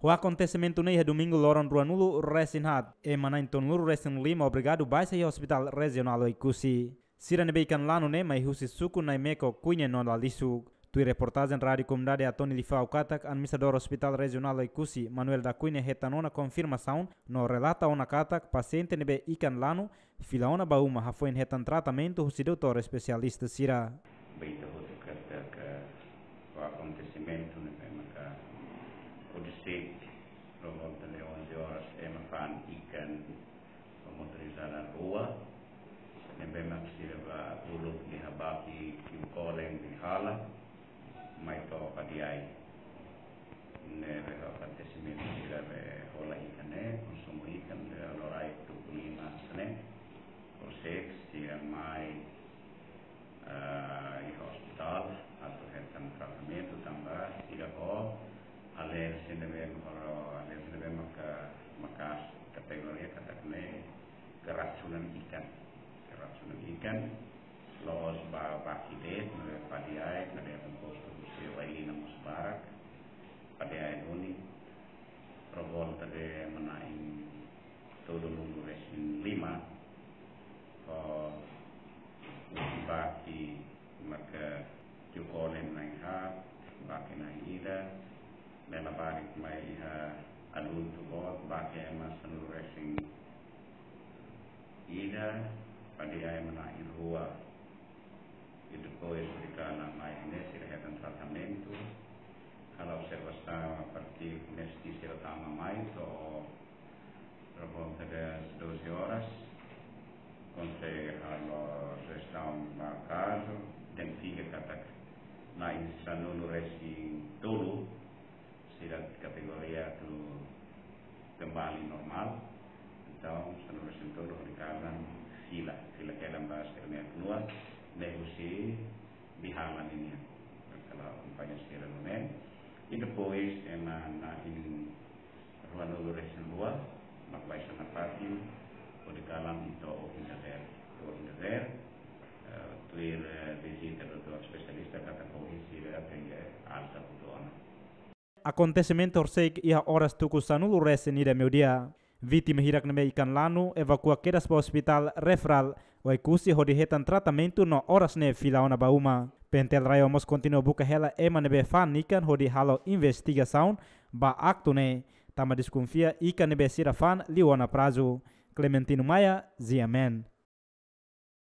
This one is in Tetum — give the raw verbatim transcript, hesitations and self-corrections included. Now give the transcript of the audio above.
Ho akontesimentu ne'e iha domingu loron ruanulu resin haat, ema na'in tolunulu resin lima obrigadu baixa iha Hospital Rejionál Oekusi. Sira ne'ebé ikan lanu ne'e mai husi suku Naimeko, Kuini no Lalisuk. Tuir reportajen Rádiu Komunidade Atoni Lifau katak, administradór Hospital Rejionál Oekusi, Manuel da Cunha, hetan ona konfirmasaun no relata ona katak pasiente ne'ebé ikan lanu fila ona ba uma hafoin hetan tratamentu husi doutór espesialista sira. Beta hotu katak akontesimentu ne'ebé maka odisik, por volta de onze horas, ema fa'an ikan ba motorizada rua, ne'ebé mak sira bá uluk iha baki kiu kolen Bihala, mai to'o Padiai. Ne'ebé akontesimentu sira be hola ikan ne'e, konsumu ikan be loraik tuku lima hanesan ne'e, horiseik sira mai, ah, iha ospitál atu hetan tratamentu tanba sira ho alerjia ne'ebé, ho alerjia ne'ebé maka, maka kategoria katak ne'e keracunan ikan. Keracunan ikan, la'ós ba baki de'it, ne'ebé Padiai, Padiai kompostu husi Wailina mós barak, Padiai duni, por volta de ema na'in tolunulu resin lima, ho baki maka kiu kolen na'in haat, baki na'in ida, ne'e labarik mai iha adultu boot, baki ema sanulu resin ida, Padiai ema na'in rua. I depois Wailina mai ne'e sira hetan tratamentu. Halo observasaun a partir ne'e sira tama mai to'o por volta das doze horas, konsege halo jestaun ba kazu, identifika katak na'in sanulu resin tolu, sira kategoria atu kembali normál. Entaun, sanulu resin tolu hodi kalan fila, fila kedan ba sira-nia knua, ne'e husi Bihala ninian. Kala akompaña sira nune'e. I depois, ema na'in ruanulu resin rua, mak baixa nafatin, hodi kalan to'o ohin dadeer. To'o ohin dadeer, eh, tuir, eh, vizita doutór espesialista katak ohin sira tenke alta hotu ona. Akontesimentu horiseik iha oras tuku sanulu resin ida meiudia. Vítima hirak ne'ebé ikan lanu evakua kedas ba Hospital Referral Oekusi hodi hetan tratamentu no oras ne'e fila ona ba uma. PNTL RAEOA mós kontinua buka hela ema ne'ebé fa'an ikan hodi halo investigasaun ba aktu ne'e, tanba deskonfia ikan ne'ebé sira fa'an liu ona prazu. Clementino Maia, G M N.